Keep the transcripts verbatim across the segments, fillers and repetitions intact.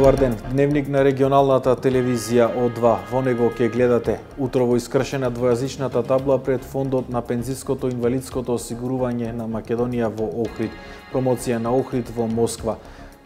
Добар ден, дневник на регионалната телевизија О два. Во него ќе гледате утрово искршена двојазичната табла пред фондот на пензиското и инвалидското осигурување на Македонија во Охрид, промоција на Охрид во Москва.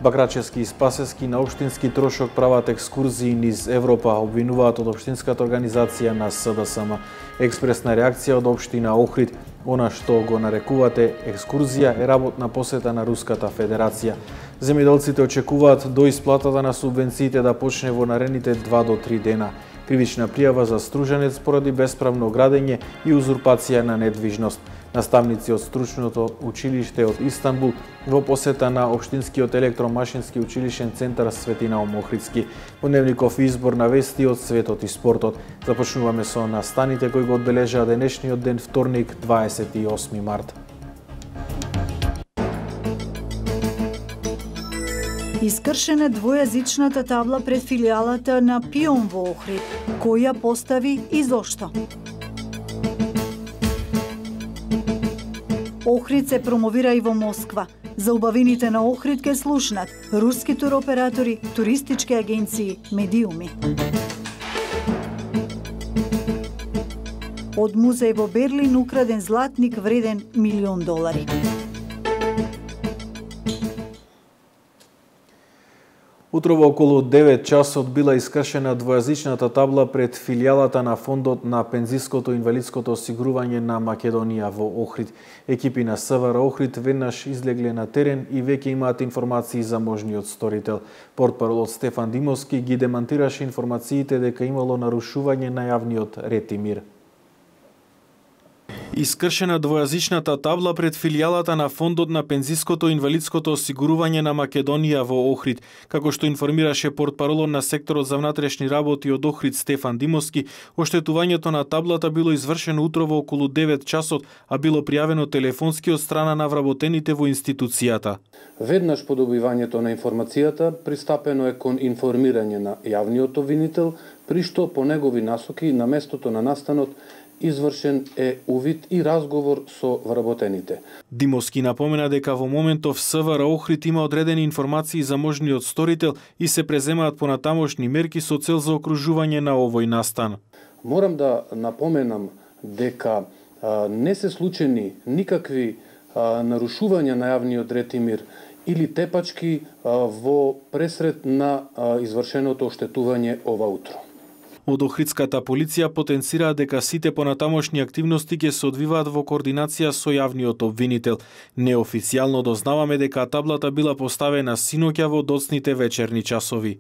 Бакрачевски и Спасевски на општински трошок прават екскурзии низ Европа, обвинуваат од општинската организација на С Д С М. Експресна реакција од општина Охрид. Она што го нарекувате екскурзија е работна посета на Руската Федерација. Земјоделците очекуваат до исплатата на субвенциите да почне во наредните два до три дена. Кривична пријава за Стружанец поради бесправно градење и узурпација на недвижност. Наставници од стручното училиште од Истанбул во посета на општинскиот електромашински училишен центар Свети Наум Охридски. Во дневников избор на вести од светот и спортот. Започнуваме со настаните кои го одбележаа денешниот ден вторник, дваесет и осми март. Искршена двојазичната табла пред филијалата на Пион во Охрид. Кој ја постави и зошто? Охрид се промовира и во Москва. За убавините на Охрид ке слушнат руски туроператори, туристички агенции, медиуми. Од музеј во Берлин украден златник вреден милион долари. Утрово околу девет часот била искршена двојазичната табла пред филијалата на фондот на пензиското и инвалидското осигурување на Македонија во Охрид. Екипи на С В Р Охрид веднаш излегле на терен и веќе имаат информации за можниот сторител. Портпаролот Стефан Димовски ги демантираше информациите дека имало нарушување на јавниот ред и мир. Искршена двојазичната табла пред филијалата на фондот на пензиското и инвалидското осигурување на Македонија во Охрид. Како што информираше портпаролот на секторот за внатрешни работи од Охрид Стефан Димовски, оштетувањето на таблата било извршено утрово околу девет часот, а било пријавено телефонски од страна на вработените во институцијата. Веднаш по добивањето на информацијата пристапено е кон информирање на јавниот обвинител, при што по негови насоки на местото на настанот извршен е увид и разговор со вработените. Димовски напомена дека во моментов С В Р Охрид има одредени информации за можниот сторител и се преземаат понатамошни мерки со цел за окружување на овој настан. Морам да напоменам дека а, не се случени никакви а, нарушувања на јавниот ред и мир или тепачки а, во пресред на а, извршеното оштетување ова утро. Од Охридската полиција потенцираа дека сите понатамошни активности ќе се одвиваат во координација со јавниот обвинител. Неофицијално дознаваме дека таблата била поставена синоќа во доцните вечерни часови.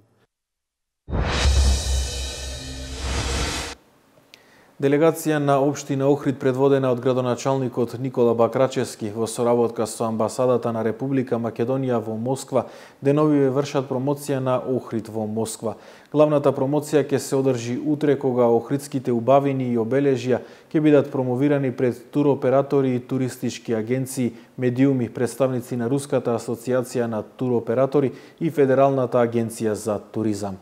Делегација на општина Охрид предводена од градоначалникот Никола Бакрачевски во соработка со амбасадата на Република Македонија во Москва деновиве вршат промоција на Охрид во Москва. Главната промоција ќе се одржи утре кога охридските убавини и обележја ќе бидат промовирани пред туроператори и туристички агенции, медиуми, представници на Руската асоциација на туроператори и Федералната агенција за туризам.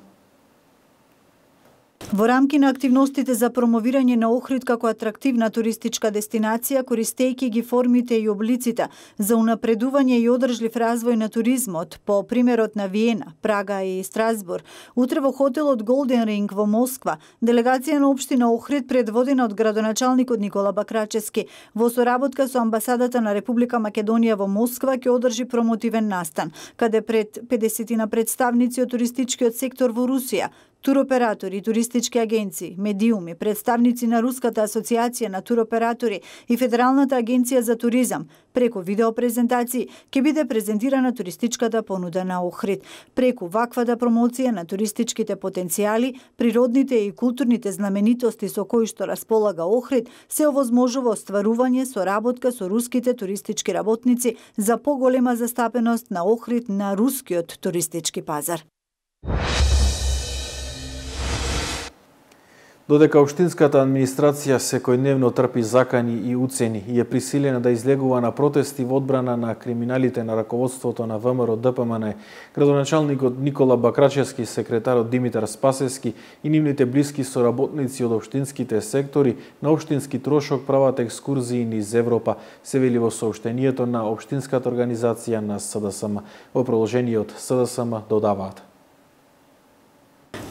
Во рамки на активностите за промовирање на Охрид како атрактивна туристичка дестинација, користејќи ги формите и облиците за унапредување и одржлив развој на туризмот, по примерот на Виена, Прага и Страсбург, утре во хотелот Голден Ринг во Москва, делегација на општина Охрид предводена од градоначалникот Никола Бакрачевски во соработка со амбасадата на Република Македонија во Москва ќе одржи промотивен настан, каде пред педесет на представници од туристичкиот сектор во Русија, туроператори, туристички агенции, медиуми, представници на Руската асоциација на туроператори и Федералната агенција за туризам, преку видеопрезентации ќе биде презентирана туристичката понуда на Охрид. Преку ваквата промоција на туристичките потенцијали, природните и културните знаменитости со кои што располага Охрид, се овозможува остварување соработка со руските туристички работници за поголема застапеност на Охрид на рускиот туристички пазар. Додека општинската администрација секојдневно трпи закани и уцени и е присилена да излегува на протести во одбрана на криминалите на раководството на В М Р Д П М Н, градоначалникот Никола Бакрачевски, секретарот Димитар Спасевски и нивните блиски соработници од општинските сектори на општински трошок прават екскурзии низ Европа, се вели во соопштенијето на општинската организација на С Д С М. Во продолжение од С Д С М додаваат.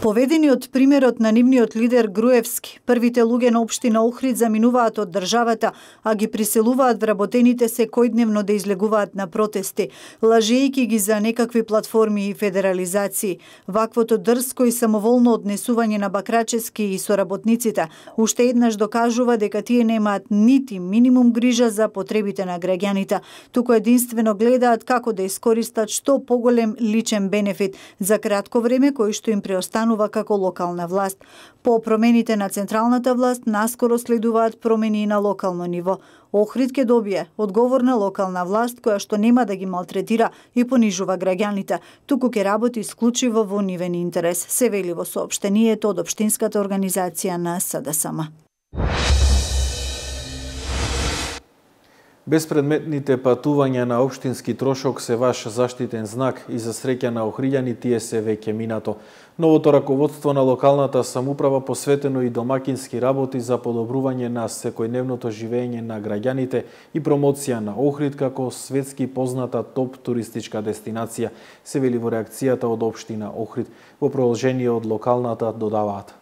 Поведени од примерот на нивниот лидер Груевски, првите луѓе на општина Охрид заминуваат од државата, а ги приселуваат вработените секојдневно да излегуваат на протести, лажејќи ги за некакви платформи и федерализации. Ваквото дрско и самоволно однесување на Бакрачевски и соработниците уште еднаш докажува дека тие немаат нити минимум грижа за потребите на граѓаните, туку единствено гледаат како да искористат што поголем личен бенефит за кратко време кој што им преостанува како локална власт. По промените на централната власт, наскоро следуваат промени на локално ниво. Охрид ќе добие одговорна локална власт која што нема да ги малтретира и понижува граѓаните, туку ќе работи исклучиво во нивен интерес, се вели во соопштението од општинската организација на С Д С М. Безпредметните патувања на општински трошок се ваш заштитен знак и за среќа на охриѓани тие се веќе минато. Новото раководство на локалната самоуправа посветено и домакински работи за подобрување на секојдневното живење на граѓаните и промоција на Охрид како светски позната топ туристичка дестинација, се вели во реакцијата од општина Охрид. Во продолжение од локалната додаваат: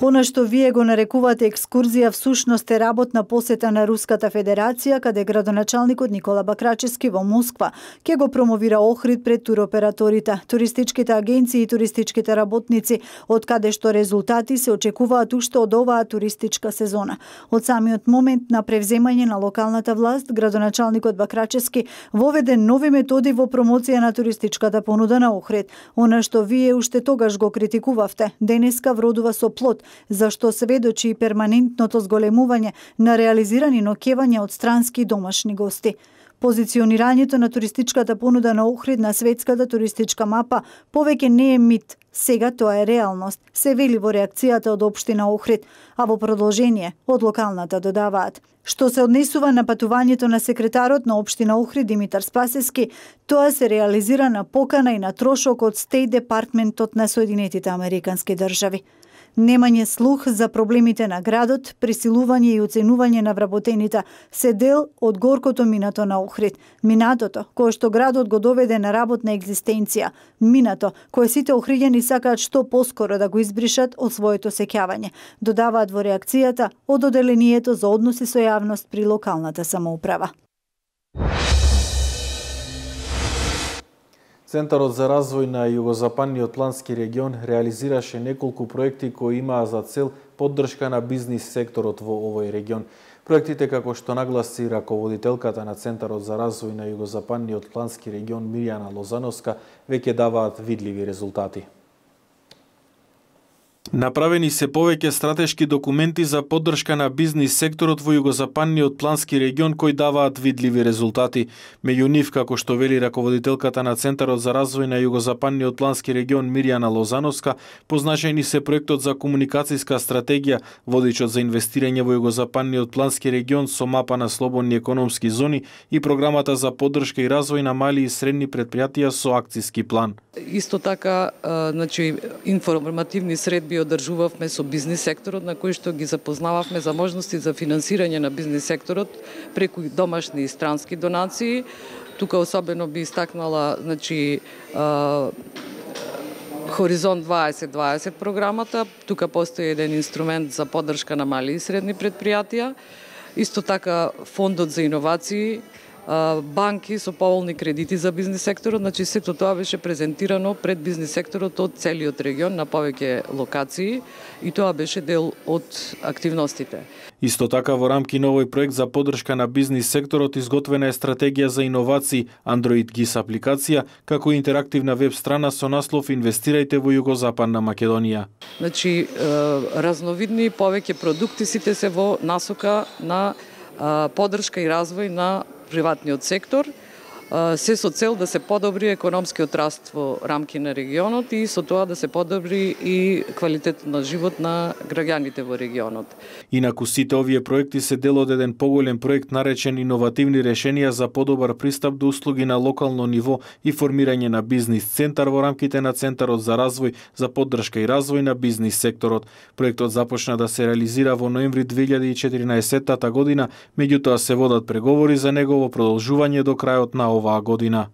Она што вие го нарекувате екскурзија всушност е работна посета на Руската Федерација, каде градоначалникот Никола Бакрачевски во Москва ќе го промовира Охрид пред туроператорите, туристичките агенции и туристичките работници, од каде што резултати се очекуваат уште од оваа туристичка сезона. Од самиот момент на превземање на локалната власт, градоначалникот Бакрачевски воведе нови методи во промоција на туристичката понуда на Охрид. Она што вие уште тогаш го критикувавте, денеска вродува со плод, зашто сведочи и перманентното зголемување на реализирани ноќевања од странски и домашни гости. Позиционирањето на туристичката понуда на Охрид на светската туристичка мапа повеќе не е мит, сега тоа е реалност, се вели во реакцијата од општина Охрид, а во продолжение од локалната додаваат: што се однесува на патувањето на секретарот на општина Охрид Димитар Спасевски, тоа се реализира на покана и на трошок од Стејт Департментот на Соединетите Американски држави. Немање слух за проблемите на градот, присилување и оценување на вработените се дел од горкото минато на Охрид. Минатото, кое што градот го доведе на работна екзистенција. Минато, кое сите охриѓани сакаат што поскоро да го избришат од своето сеќавање. Додаваат во реакцијата од Оделението за односи со јавност при локалната самоуправа. Центарот за развој на југозападниот плански регион реализираше неколку проекти кои имаа за цел поддршка на бизнис секторот во овој регион. Проектите, како што нагласи раководителката на Центарот за развој на југозападниот плански регион Мирјана Лозановска, веќе даваат видливи резултати. Направени се повеќе стратешки документи за поддршка на бизнис секторот во југозападниот плански регион кои даваат видливи резултати. Меѓу нив, како што вели раководителката на Центарот за развој на југозападниот плански регион Мирјана Лозановска, позначајни се проектот за комуникацијска стратегија, водичот за инвестирање во југозападниот плански регион со мапа на слободни економски зони и програмата за поддршка и развој на мали и средни претпријатија со акциски план. Исто така, значи, информативни средби одржувавме со бизнис секторот, на кој што ги запознававме за можности за финансирање на бизнис секторот преку домашни и странски донации. Тука особено би истакнала, значи, Хоризонт дваесет дваесет програмата. Тука постои еден инструмент за поддршка на мали и средни претпријатија. Исто така фондот за иновации, банки со поволни кредити за бизнис секторот, значи сето тоа беше презентирано пред бизнис секторот од целиот регион на повеќе локации и тоа беше дел од активностите. Исто така во рамки на овој проект за поддршка на бизнис секторот изготвена е стратегија за иновации Android джи ай ес апликација, како и интерактивна веб страна со наслов Инвестирајте во Југозападна Македонија. Значи разновидни повеќе продукти сите се во насока на поддршка и развој на приватниот сектор, се со цел да се подобри економскиот раст во рамки на регионот и со тоа да се подобри и квалитетот на живот на граѓаните во регионот. Инаку сите овие проекти се дел од еден поголем проект наречен Иновативни решенија за подобар пристап до услуги на локално ниво и формирање на бизнис центар во рамките на Центарот за развој за поддршка и развој на бизнис секторот. Проектот започна да се реализира во ноември две илјади и четиринаесетта година, меѓутоа се водат преговори за негово продолжување до крајот на оваа година.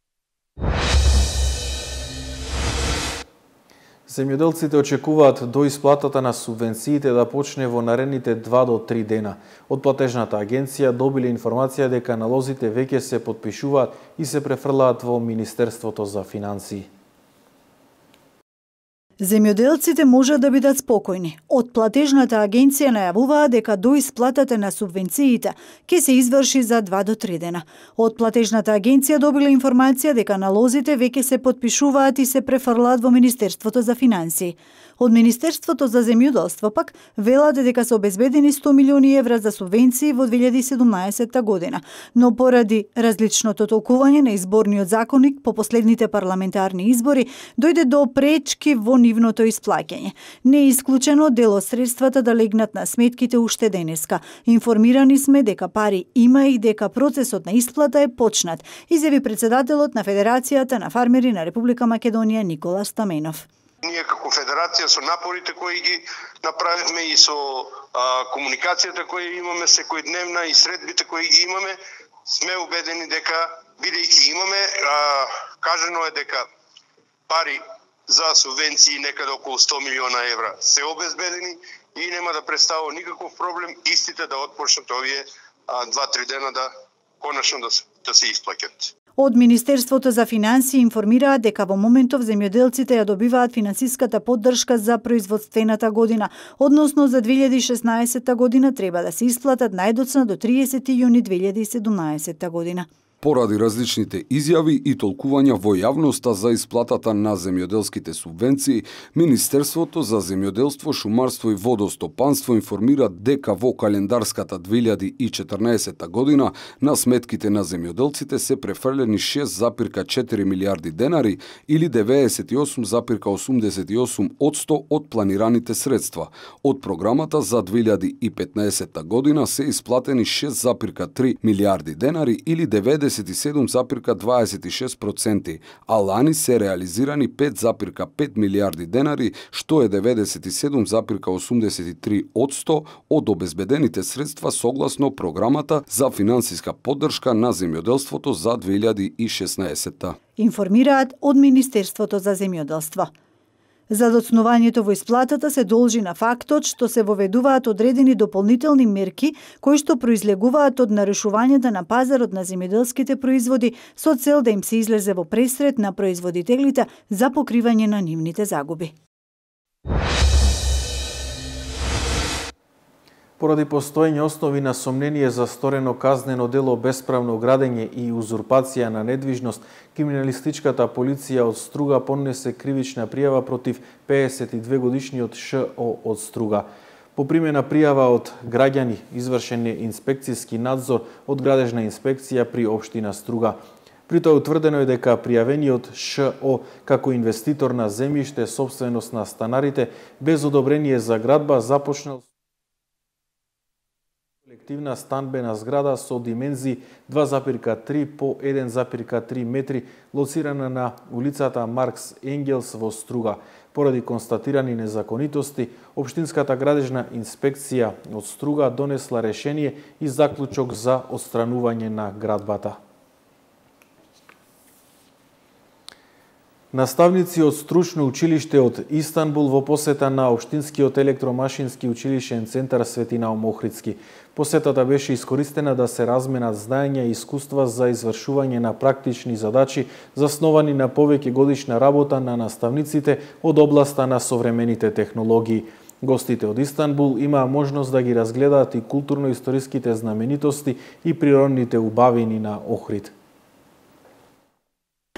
Земјоделците очекуваат до исплатата на субвенциите да почне во наредните два до три дена. Од платежната агенција добиле информација дека налозите веќе се потпишуваат и се префрлаат во Министерството за финансии. Земјоделците можат да бидат спокојни. Од платежната агенција најавуваа дека до исплатата на субвенциите ќе се изврши за два до три дена. Од платежната агенција добила информација дека налозите веќе се потпишуваат и се префрлаат во Министерството за финансии. Од Министерството за земјоделство пак велат дека се обезбедени сто милиони евра за субвенции во две илјади и седумнаесетта година, но поради различното толкување на изборниот законник по последните парламентарни избори дојде до пречки во нивното исплаќање. Не е исклучено дел од средствата да легнат на сметките уште денеска. Информирани сме дека пари има и дека процесот на исплата е почнат, изјави председателот на Федерацијата на фармери на Република Македонија Никола Стаменов. Ние како федерација со напорите кои ги направивме и со а, комуникацијата која имаме секојдневна и средбите кои ги имаме, сме убедени дека бидејќи имаме, а, кажано е дека пари за субвенции некаде околу сто милиона евра се обезбедени и нема да представува никаков проблем истите да отпочнат овие два-три дена да конечно да се, да се исплаќат. Од Министерството за финансии информираат дека во моментов земјоделците ја добиваат финансиската поддршка за производствената година, односно за две илјади и шеснаесетта година треба да се исплатат најдоцна до триесети јуни две илјади и седумнаесетта година. Поради различните изјави и толкувања во јавноста за исплатата на земјоделските субвенции, Министерството за земјоделство, шумарство и водостопанство информира дека во календарската две илјади и четрнаесетта година на сметките на земјоделците се префрлени шест зарез четири милијарди денари или деветдесет и осум зарез осумдесет и осум одсто од планираните средства. Од програмата за две илјади и петнаесетта година се исплатени шест зарез три милијарди денари или деветдесет и седум зарез дваесет и шест проценти, а лани се реализирани пет зарез пет милијарди денари, што е деветдесет и седум зарез осумдесет и три одсто од обезбедените средства согласно програмата за финансиска поддршка на земјоделството за две илјади и шеснаесетта. Информираат од Министерството за земјоделство. Задоцнувањето во исплатата се должи на фактот што се воведуваат одредени дополнителни мерки кои што произлегуваат од нарушувањата на пазарот на земјоделските производи со цел да им се излезе во пресред на производителите за покривање на нивните загуби. Поради постоење основи на сомнение за сторено казнено дело bespravно градење и узурпација на недвижност, криминалистичката полиција од Струга поднесе кривична пријава против пеесет и две годишниот Ш.О. од Струга. По примена пријава од граѓани извршен е инспекцијски надзор од градежна инспекција при општина Струга. При тоа утврдено е дека пријавениот Ш.О. како инвеститор на земјиште сопственост на станарите без одобрение за градба започнал колективна станбена зграда со димензии два зарез три по еден зарез три метри, лоцирана на улицата Маркс Енгелс во Струга. Поради констатирани незаконитости, Општинската градежна инспекција од Струга донесла решение и заклучок за отстранување на градбата. Наставници од стручно училиште од Истанбул во посета на Општинскиот електромашински училишен центар Свети Наум Охридски. Посетата беше искористена да се разменат знаења и искуства за извршување на практични задачи засновани на повеќе годишна работа на наставниците од областа на современите технологии. Гостите од Истанбул имаа можност да ги разгледаат и културно-историските знаменитости и природните убавини на Охрид.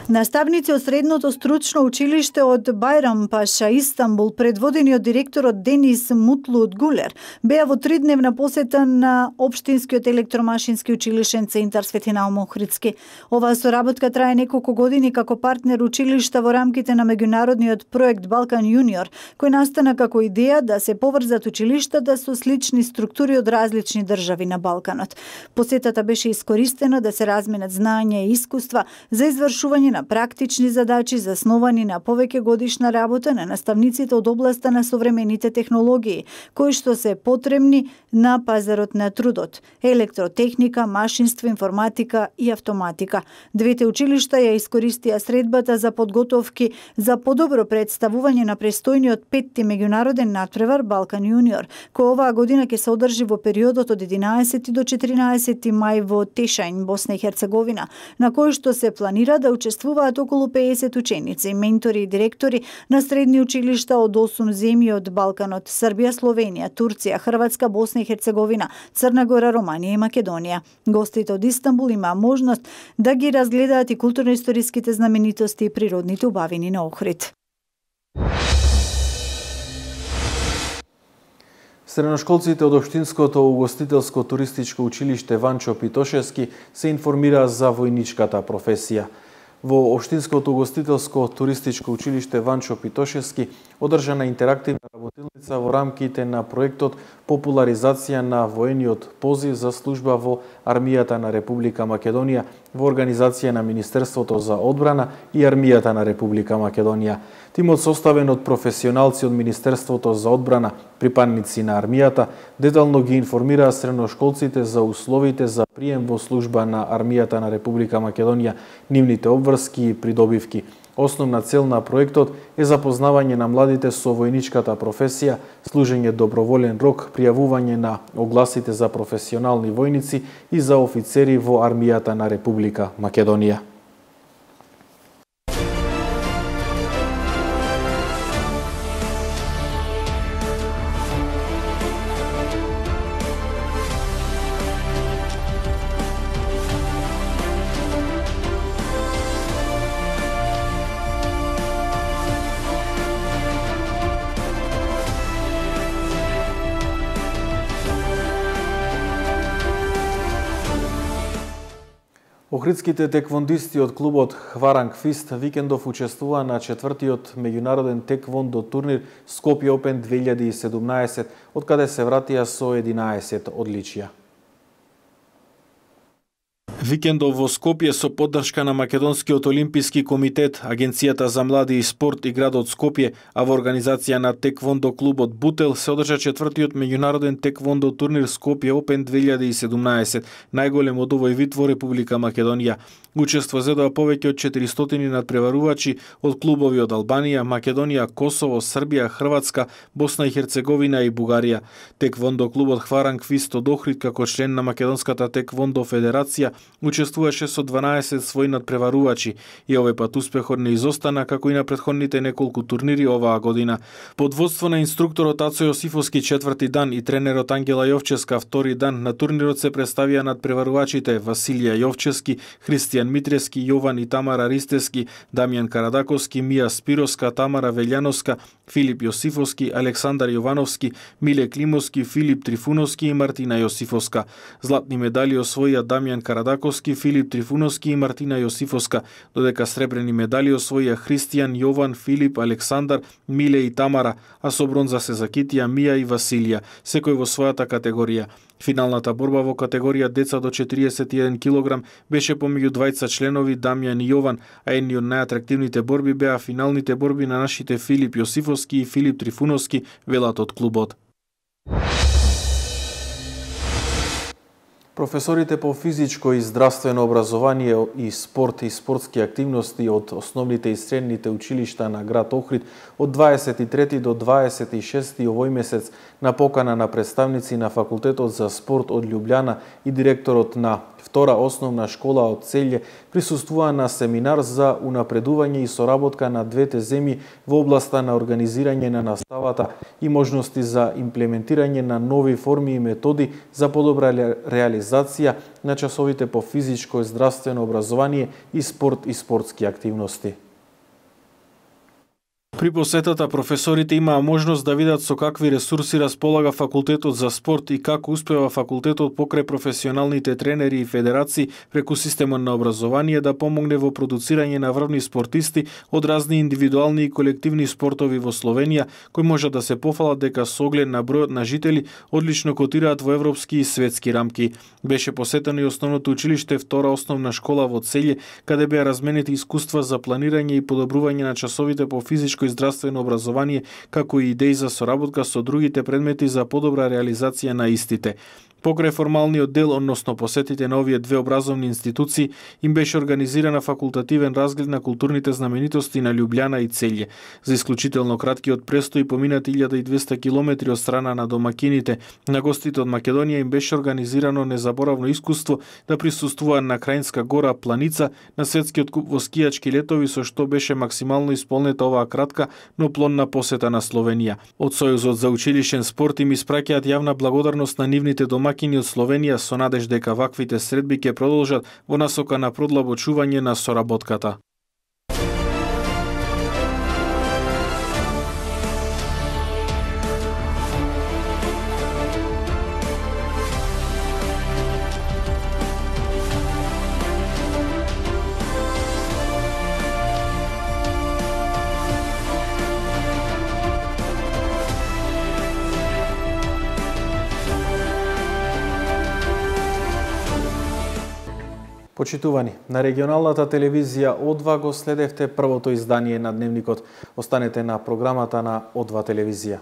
Наставници од средното стручно училиште од Байрампаша, Истанбул, предводени од директорот Денис Мутлут Гулер, беа во тридневна посета на Општинскиот електромашински училишен центар Свети Наум Охридски. Оваа соработка трае неколку години како партнер училишта во рамките на меѓународниот проект Балкан Јуниор, кој настана како идеја да се поврзат училиштата со слични структури од различни држави на Балканот. Посетата беше искористена да се разменат знаења и искуства за извршување на практични задачи засновани на повеќе годишна работа на наставниците од областа на современите технологии, кои што се потребни на пазарот на трудот: електротехника, машинство, информатика и автоматика. Двете училишта ја искористија средбата за подготовки за подобро представување на престојниот петти меѓународен натпревар Балкан Јуниор, кој оваа година ќе се одржи во периодот од единаесети до четиринаесети мај во Тешајн, Босна и Херцеговина, на кој што се планира да учествуваат околу пеесет ученици, ментори и директори на средни училишта од осум земји од Балканот: Србија, Словенија, Турција, Хрватска, Босна и Херцеговина, Црна Гора, Романија и Македонија. Гостите од Истанбул имаа можност да ги разгледаат и културно-историските знаменитости и природните убавини на Охрид. Средношколците од Општинското угостителско туристичко училиште Ванчо Питошевски се информираа за војничката професија. Во Општинското угостителско туристичко училиште Ванчо Питошевски одржана интерактивна работилница во рамките на проектот Популаризација на воениот позив за служба во Армијата на Република Македонија во организација на Министерството за одбрана и Армијата на Република Македонија. Тимот, составен од професионалци од Министерството за одбрана, припадници на армијата, детално ги информираа средношколците за условите за прием во служба на Армијата на Република Македонија, нивните обврски и придобивки. Основна цел на проектот е запознавање на младите со војничката професија, служење доброволен рок, пријавување на огласите за професионални војници и за офицери во Армијата на Република Македонија. Охридските теквондисти од клубот Хваранг Фист викендов учествуваа на четвртиот меѓународен теквондо турнир Скопје Опен две илјади и седумнаесет, од каде се вратија со единаесет одличија. Викендов во Скопје со поддршка на Македонскиот олимписки комитет, Агенцијата за млади и спорт и градот Скопје, а во организација на теквондо клубот Бутел се одржа четвртиот меѓународен теквондо турнир Скопје Опен две илјади и седумнаесет, најголем од овој вид во Република Македонија. Учество зедоа повеќе од четиристотини надпреварувачи од клубови од Албанија, Македонија, Косово, Србија, Хрватска, Босна и Херцеговина и Бугарија. Теквондо клубот Хваранг Фист од Охрид, како член на Македонската теквондо федерација, учествуваше со дванаесет своји надпреварувачи и овој пат успехот не изостана како и на претходните неколку турнири оваа година. Под водство на инструкторот Ацо Јосифовски четврти дан и тренерот Ангела Јовчевска втори дан на турнирот се представија надпреварувачите Василија Јовчевски, Христијан Митревски, Јован и Тамара Ристевски, Дамјан Карадаковски, Мија Спировска, Тамара Велјановска, Филип Јосифовски, Александар Јовановски, Миле Климовски, Филип Трифуновски и Мартина Јосифовска. Златни медали освоија Дамјан Карадаковски, Филип Трифуновски и Мартина Јосифовска, додека сребрени медали освоија Христијан, Јован, Филип, Александар, Миле и Тамара, а со бронза се закитија Мија и Василија, секој во својата категорија. Финалната борба во категорија деца до четириесет и еден килограм беше помеѓу двајца членови Дамјан и Јован, а едни од најатрактивните борби беа финалните борби на нашите Филип Јосифовски и Филип Трифуновски, велат од клубот. Професорите по физичко и здравствено образование и спорт и спортски активности од основните и средните училишта на град Охрид од дваесет и трети до дваесет и шести овој месец на покана на представници на Факултетот за спорт од Љубљана и директорот на втора основна школа од Целје присуствува на семинар за унапредување и соработка на двете земји во областа на организирање на наставата и можности за имплементирање на нови форми и методи за подобра реализација на часовите по физичко и здравствено образование и спорт и спортски активности. При посетата професорите имаа можност да видат со какви ресурси располага факултетот за спорт и како успева факултетот покрај професионалните тренери и федерации преку системот на образование да помогне во продуцирање на врвни спортисти од разни индивидуални и колективни спортови во Словенија, кои може да се пофалат дека со оглед на бројот на жители одлично котираат во европски и светски рамки. Беше посетено и основното училиште Втора основна школа во Целје, каде беа разменети искуства за планирање и подобрување на часовите по физичко и здравствено образование, како и идеи за соработка со другите предмети за подобра реализација на истите. Покрај формалниот дел, односно посетите на овие две образовни институции, им беше организирана факултативен разглед на културните знаменитости на Љубљана и Целје. За исклучително краткиот престој поминати илјада и двесте километри од страна на домакините, на гостите од Македонија им беше организирано незаборавно искуство да присуствуваат на Краинска гора Планица на светскиот куп во скијачки летови, со што беше максимално исполнета оваа кратка, но плодна посета на Словенија. Од Сојузот за училишен спорт им испраќаат јавна благодарност на нивните домакини од Словенија со надеж дека ваквите средби ќе продолжат во насока на продлабочување на соработката. Почитувани, на регионалната телевизија О два го следевте првото издание на Дневникот. Останете на програмата на О два телевизија.